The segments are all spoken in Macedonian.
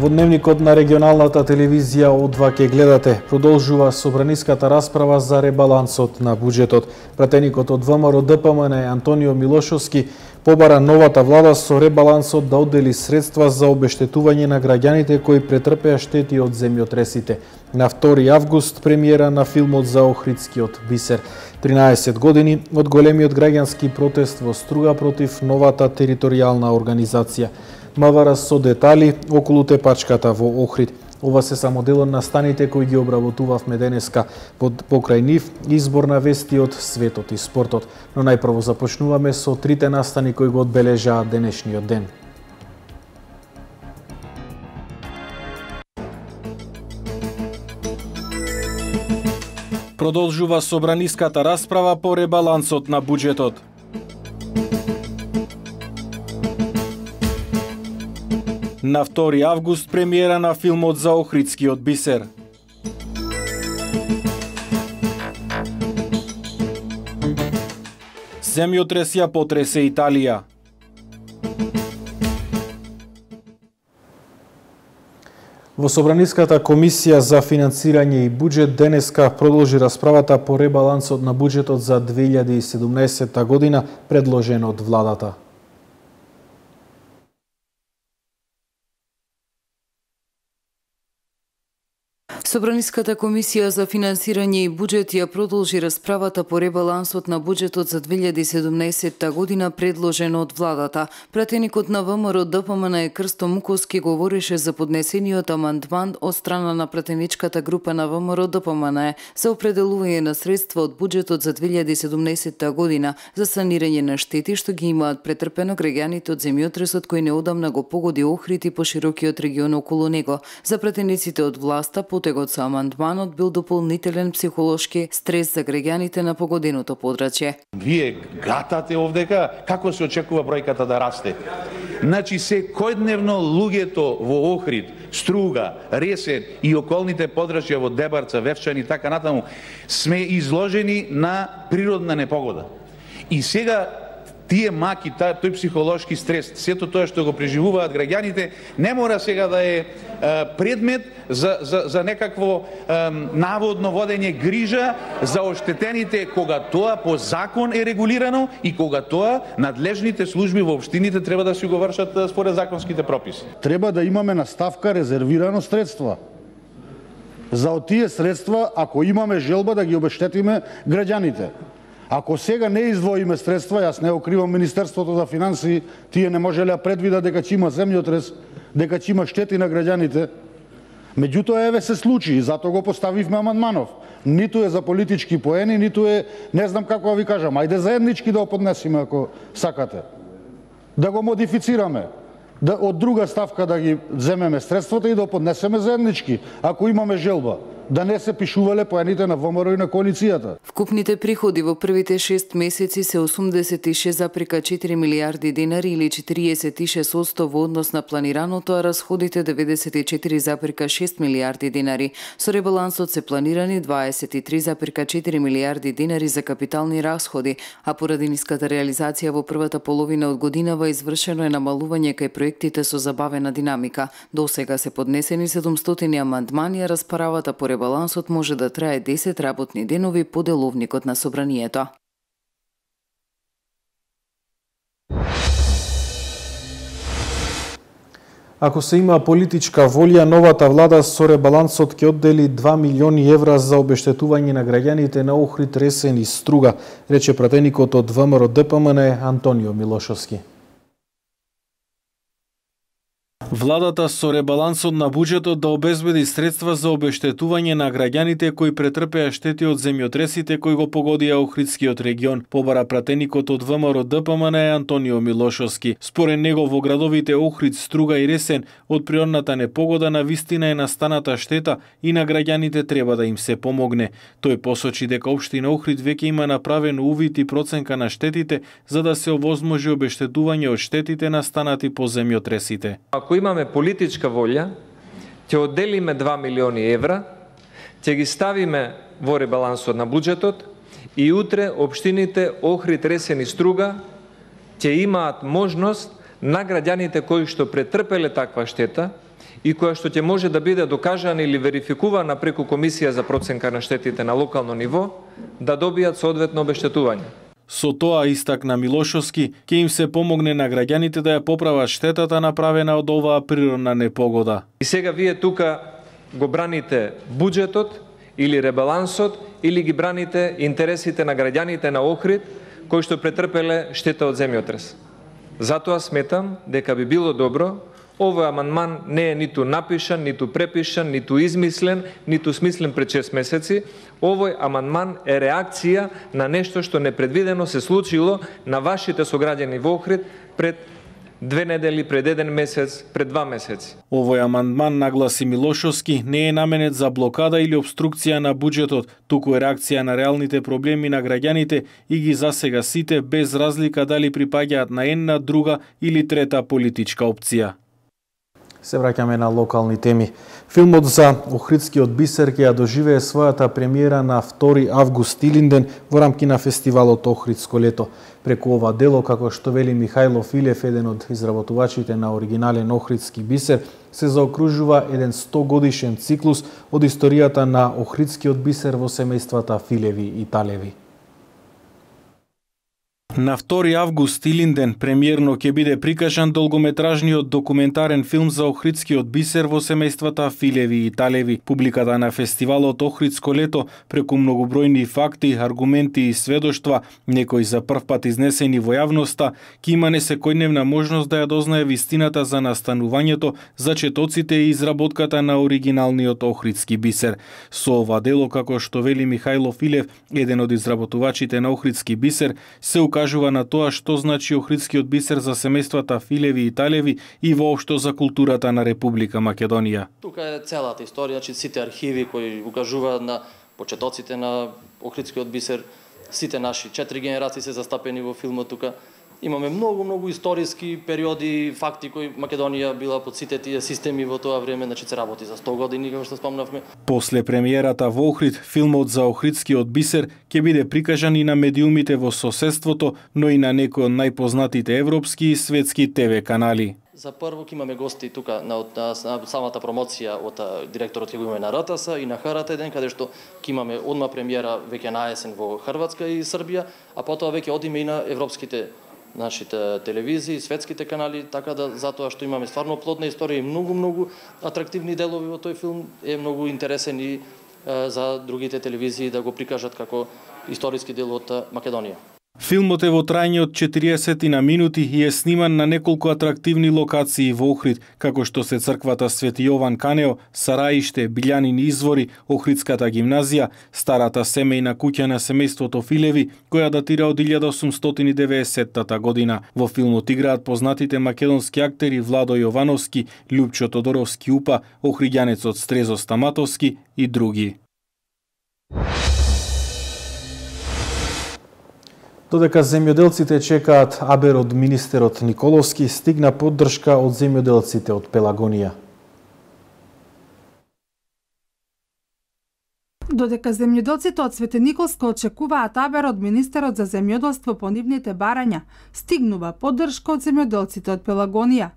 Во дневникот на регионалната телевизија О2 ке гледате. Продолжува собраниската расправа за ребалансот на буџетот. Пратеникот од ВМРО ДПМН Антонио Милошовски побара новата влада со ребалансот да оддели средства за обештетување на граѓаните кои претрпеа штети од земјотресите. На 2 август премиера на филмот за Охридскиот бисер. 13 години од големиот граѓански протест во Струга против новата територијална организација. МВР со детали околу тепачката во Охрид. Ова се само дел од настаните кои ги обработувавме денеска. Покрај нив избор на вести од светот и спортот. Но најпрво започнуваме со трите настани кои го одбележаат денешниот ден. Продолжува собраниската расправа по ребалансот на буџетот. На 2 август премиера на филмот за Охридскиот бисер. Земјотрес ја потресе Италија. Во Собраниската комисија за финансирање и буџет денеска продолжи расправата по ребалансот на буџетот за 2017 година предложен од владата. Собраниската комисија за финансирање и буџет ја продолжи расправата по ребалансот на буџетот за 2017 година предложен од владата. Пратеникот на ВМРО ДПМН Крсто Муковски говореше за поднесениот амандман од страна на пратеничката група на ВМРО ДПМН за определување на средства од буџетот за 2017 година за санирање на штети што ги имаат претрпено граѓаните од земјотресот кој неодамна го погоди Охрид и поширокиот регион околу него. За пратениците од власта потегот со амандманот бил дополнителен психолошки стрес за граѓаните на погоденото подрачје. Вие гатате овдека како се очекува бројката да расте. Значи секојдневно луѓето во Охрид, Струга, Ресен и околните подрачја во Дебарца, Вевчан и така натаму сме изложени на природна непогода. И сега тие маки, тој психолошки стрес, сето тоа што го преживуваат граѓаните, не мора сега да е предмет за некакво наводно водење грижа за оштетените кога тоа по закон е регулирано и кога тоа надлежните служби во општините треба да си го вршат според законските прописи. Треба да имаме на ставка резервирано средства. За од тие средства, ако имаме желба да ги обештетиме граѓаните. Ако сега не издвоиме средства, јас не окривам Министерството за финансии, тие не можеле да предвидат дека ќе има земјотрес, дека ќе има штети на граѓаните. Меѓутоа еве се случи и затоа го поставивме амандманов. Ниту е за политички поени, ниту е, не знам како да ви кажам, ајде заеднички да го поднесиме ако сакате. Да го модифицираме. Да од друга ставка да ги земеме средствата и да поднесеме заеднички, ако имаме желба. Да не се пишувале поените на ВМРО и на коалицијата. Вкупните приходи во првите 6 месеци се 86,4 милиарди денари или 46% во однос на планираното, а расходите 94,6 милиарди денари. Со ребалансот се планирани 23,4 милиарди денари за капитални расходи, а поради ниската реализација во првата половина од годинава извршено е намалување кај проектите со забавена динамика. До сега се поднесени 700 амандмани, а расправата по ребалансот може да трае 10 работни денови по деловникот на собранието. Ако се има политичка волја, новата влада со ребалансот ќе оддели 2 милиони евра за обештетување на граѓаните на Охрид, Ресен и Струга, рече пратеникот од ВМРО ДПМН Антонио Милошовски. Владата со ребалансот на буџетот да обезбеди средства за обештетување на граѓаните кои претрпеа штети од земјотресите кои го погодија Охридскиот регион, побара пратеникот од ВМРО ДПМН Антонио Милошовски. Според него во градовите Охрид, Струга и Ресен од природната непогода на вистина е настаната штета и на граѓаните треба да им се помогне. Тој посочи дека општина Охрид веќе има направен увид и проценка на штетите за да се овозможи обештетување од штетите настанати по земјотресите. Ако имаме политичка волја, ќе одделиме 2 милиони евра, ќе ги ставиме во ребалансот на буџетот и утре општините Охрид, Ресен и Струга ќе имаат можност на граѓаните кои што претрпеле таква штета и која што ќе може да биде докажана или верификувана преку Комисија за проценка на штетите на локално ниво, да добијат соодветно обештетување. Со тоа, истакна Милошовски, ќе им се помогне на граѓаните да ја поправат штетата направена од оваа природна непогода. И сега вие тука го браните буџетот или ребалансот, или ги браните интересите на граѓаните на Охрид, кои што претрпеле штета од земјотрес. Затоа сметам дека би било добро овој амандман не е ниту напишан, ниту препишан, ниту измислен, ниту смислен пред 6 месеци. Овој амандман е реакција на нешто што непредвидено се случило на вашите сограѓани во Охрид пред 2 недели, пред 1 месец, пред 2 месеци. Овој амандман, нагласи Милошовски, не е наменет за блокада или обструкција на буџетот, туку е реакција на реалните проблеми на граѓаните и ги засега сите без разлика дали припаѓаат на една, друга или трета политичка опција. Се враќаме на локални теми. Филмот за Охридскиот бисер ќе ја доживее својата премиера на 2 август Илинден во рамки на фестивалот Охридско лето. Преку ова дело, како што вели Михајло Филев, еден од изработувачите на оригинален Охридски бисер, се заокружува еден 100 годишен циклус од историјата на Охридскиот бисер во семејствата Филеви и Талеви. На 2 август Илинден премиерно ќе биде прикажан долгометражниот документарен филм за Охридскиот бисер во семејствата Филеви и Талеви. Публиката на фестивалот Охридско лето преку многобројни факти, аргументи и сведоштва, некои за прв пат изнесени во јавноста, ќе има несекојдневна можност да ја дознае вистината за настанувањето, зачетоците и изработката на оригиналниот Охридски бисер. Со ова дело, како што вели Михајло Филев, еден од изработувачите на Охридски бисер, се укажува на тоа што значи Охридскиот бисер за семејствата Филеви и Талеви и воопшто за културата на Република Македонија. Тука е целата историја, сите архиви кои укажуваат на почетоците на Охридскиот бисер, сите наши 4 генерации се застапени во филмот тука. Имаме многу историски периоди, факти кои Македонија била под сите тие системи во тоа време, значи се работи за 100 години, како што спомнавме. После премиерата во Охрид, филмот за Охридскиот бисер ќе биде прикажан и на медиумите во соседството, но и на некои од најпознатите европски и светски ТВ канали. За прво ќе имаме гости тука на самата промоција од директорот ќе го имаме на РТС и на ХРТ1, каде што ќе имаме одма премиера веќе на есен во Хрватска и Србија, а потоа веќе одиме и на европските нашите телевизии, светските канали, така да затоа што имаме стварно плодна историја и многу атрактивни делови во тој филм, е многу интересен и за другите телевизии да го прикажат како историски дел од Македонија. Филмот е во трајање од 40 на минути и е сниман на неколку атрактивни локации во Охрид, како што се црквата Свети Јован Канео, Сараиште, Билјанини извори, Охридската гимназија, старата семејна куќа на семејството Филеви, која датира од 1890 година. Во филмот играат познатите македонски актери Владо Јовановски, Љупчо Тодоровски Упа, охриѓанецот Стрезо Стаматовски и други. Додека земјоделците чекаат абер од министерот Николовски, стигна поддршка од земјоделците од Пелагонија. Додека земјоделците од Свети Николско очекуваат абер од министерот за земјоделство по нивните барања, стигнува поддршка од земјоделците од Пелагонија.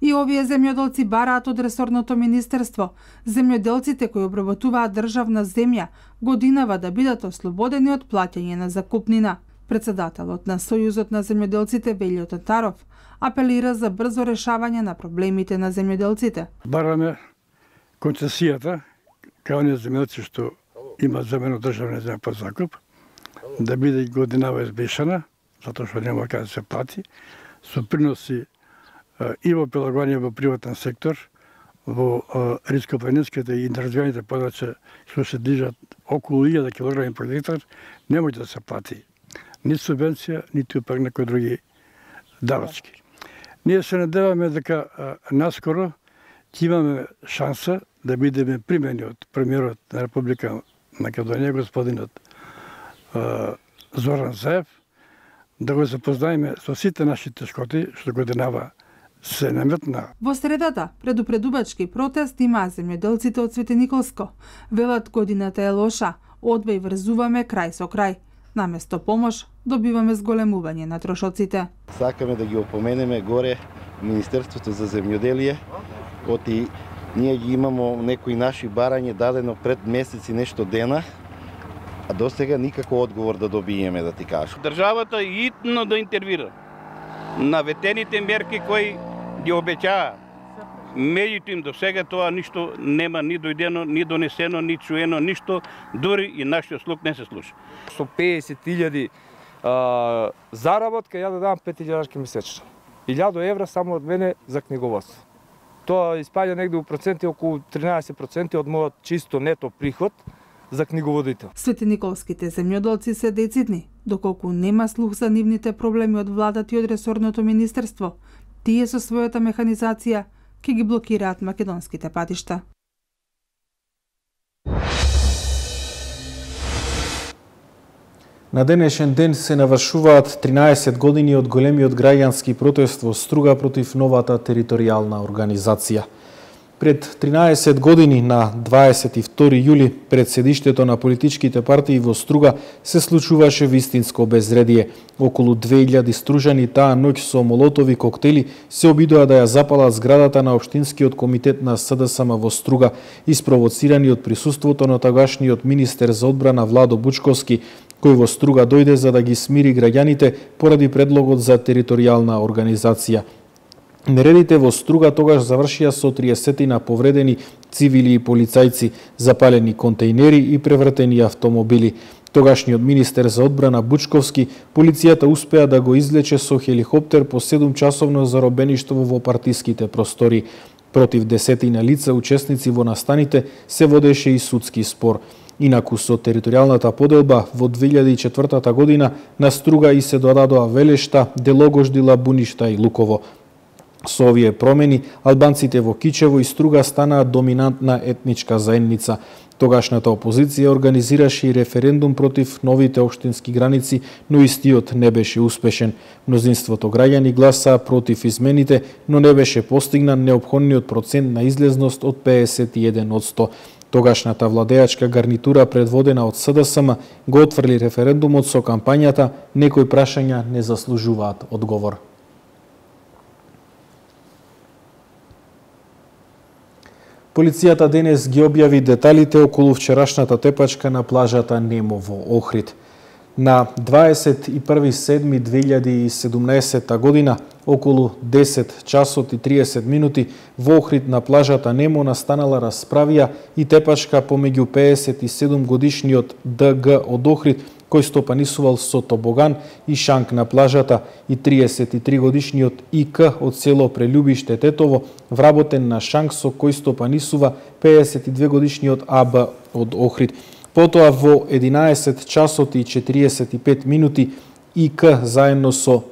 И овие земјоделци бараат од ресорното министерство, земјоделците кои обработуваат државна земја, годинава да бидат ослободени од плаќање на закупнина. Председателот на Сојузот на земјоделците Велјо Татаров апелира за брзо решавање на проблемите на земјоделците. Бараме концесијата кај оние земјоделци што имаат земено државна земја под закуп, да биде годинава избешана, затоа што нема каде да се плати, со приноси и во Пелагонија во приватен сектор, во риско-планинските и неразвиените подрачја што се движат околу 1000 килограми по гектар, не може да се плати ни субвенција, ниту пак некои други давачки. Ние се надеваме дека наскоро ќе имаме шанса да бидеме примени од премиерот на Република Македонија, господинот Зоран Заев, да го запознаеме со сите наши тешкоти што годинава се наметна. Во средата, предупредувачки протест има земјоделците од Свети Николско. Велат годината е лоша, одва и врзуваме крај со крај. Наместо помош, добиваме зголемување на трошоците. Сакаме да ги опоменеме горе Министерството за земјоделие, оти Ние ги имамо некои наши барања дадено пред месеци нешто дена, а до сега никако одговор да добиеме, да ти кажам. Државата итно да интервира. Наветените мерки кои ги обеќаа, меѓутоа до сега тоа ништо нема ни дојдено, ни донесено, ни чуено, ништо, дури и нашиот слух не се слуша. Со 50.000 заработка, ја да дам 5.000 месечно. 1.000 евра само од мене за книговодство. Тоа испаѓа негде у проценти околу 13% од мојот чисто нето приход за книговодител. Светениколските земјоделци се децидни, доколку нема слух за нивните проблеми од владата и од ресорното министерство. Тие со својата механизација ќе ги блокираат македонските патишта. На денешен ден се навршуваат 13 години од големиот граѓански протест во Струга против новата територијална организација. Пред 13 години на 22 јули пред седиштето на политичките партии во Струга се случуваше вистинско безредие. Околу 2000 стружани таа ноќ со молотови коктели се обидоа да ја запалат зградата на општинскиот комитет на СДСМ во Струга, испровоцирани од присуството на тогашниот министер за одбрана Владо Бучковски, кој во Струга дојде за да ги смири граѓаните поради предлогот за територијална организација. Нередите во Струга тогаш завршија со 30 повредени цивили и полицајци, запалени контејнери и превртени автомобили. Тогашниот министер за одбрана Бучковски, полицијата успеа да го излече со хеликоптер по 7-часовно заробеништво во партиските простори. Против 10 лица учесници во настаните се водеше и судски спор. Инаку со територијалната поделба во 2004 година на Струга и се додадоа Велешта, Делогождила, Буништа и Луково. Со овие промени, албанците во Кичево и Струга станаа доминантна етничка заедница. Тогашната опозиција организираше и референдум против новите општински граници, но истиот не беше успешен. Мнозинството граѓани гласаа против измените, но не беше постигнат неопходниот процент на излезност од 51%. Тогашната владеачка гарнитура предводена од СДСМ го отфрли референдумот со кампањата "Некои прашања не заслужуваат одговор". Полицијата денес ги објави деталите околу вчерашната тепачка на плажата Немо во Охрид. На 21.7.2017 година, околу 10 часот и 30 минути, во Охрид на плажата Немо настанала расправија и тепачка помеѓу 57 годишниот ДГ од Охрид, кој стопанисувал со тобоган и шанк на плажата, и 33 годишниот ИК од село Прелюбиште Тетово, вработен на шанк со кој стопанисува 52 годишниот АБ од Охрид. Потоа во 11 часот и 45 минути ИК заедно со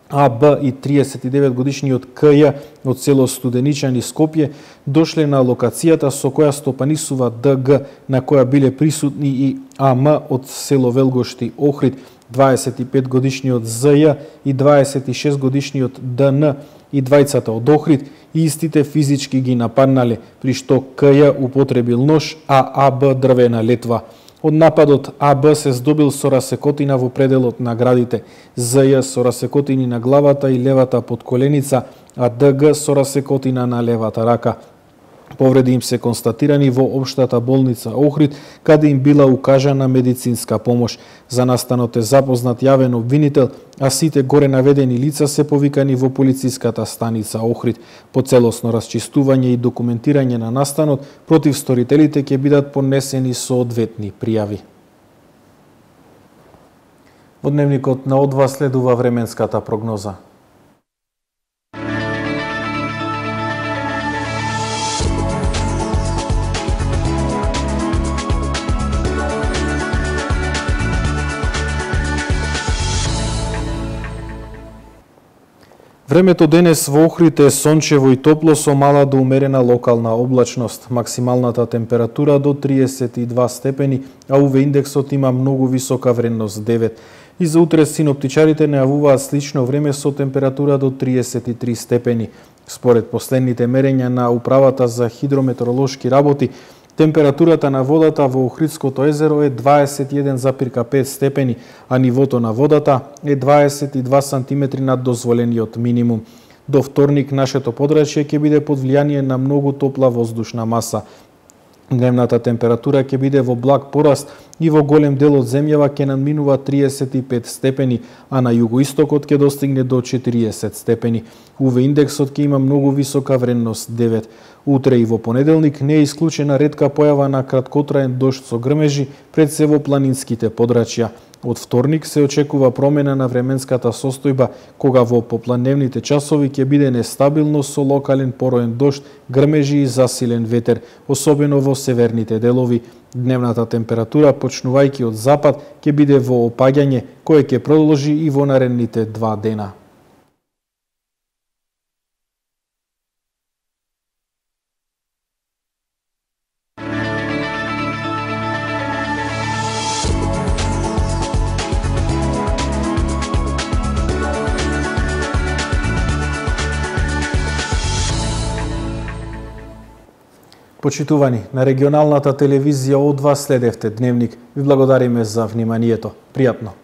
АБ и 39 годишниот КЈ од село Студеничан и Скопје дошле на локацијата со која стопанисува ДГ, на која биле присутни и АМ од село Велгошти Охрид, 25 годишниот ЗЈ и 26 годишниот ДН, и двајцата од Охрид, и истите физички ги нападнале, при што КЈ употребил нож, а АБ дрвена летва. Од нападот АБ се здобил со расекотина во пределот на градите, ЗЈ со расекотини на главата и левата подколеница, а ДГ со расекотина на левата рака. Повреди им се констатирани во општата болница Охрид, каде им била укажана медицинска помош. За настанот е запознат јавен обвинител, а сите горе наведени лица се повикани во полициската станица Охрид. По целосно расчистување и документирање на настанот, против сторителите ќе бидат поднесени соодветни пријави. Во дневникот на Одва следува временската прогноза. Времето денес во Охрид е сончево и топло со мала до умерена локална облачност. Максималната температура до 32 степени, а УВ индексот има многу висока вредност 9. И за утре синоптичарите најавуваат слично време со температура до 33 степени. Според последните мерења на Управата за хидрометеоролошки работи, температурата на водата во Охридското езеро е 21,5 степени, а нивото на водата е 22 сантиметри над дозволениот минимум. До вторник нашето подрачје ќе биде под влијание на многу топла воздушна маса. Дневната температура ќе биде во благ пораст и во голем дел од земјава ќе надминува 35 степени, а на југоистокот ќе достигне до 40 степени. УВ индексот ќе има многу висока вредност 9. Утре и во понеделник не е исклучена ретка појава на краткотраен дожд со грмежи пред се во планинските подрачја. Од вторник се очекува промена на временската состојба, кога во попладневните часови ќе биде нестабилно со локален пороен дожд, грмежи и засилен ветер, особено во северните делови. Дневната температура, почнувајќи од запад, ќе биде во опаѓање, кое ќе продолжи и во наредните 2 дена. Почитувани, на регионалната телевизија од вас следевте Дневник. Ви благодариме за вниманието. Пријатно.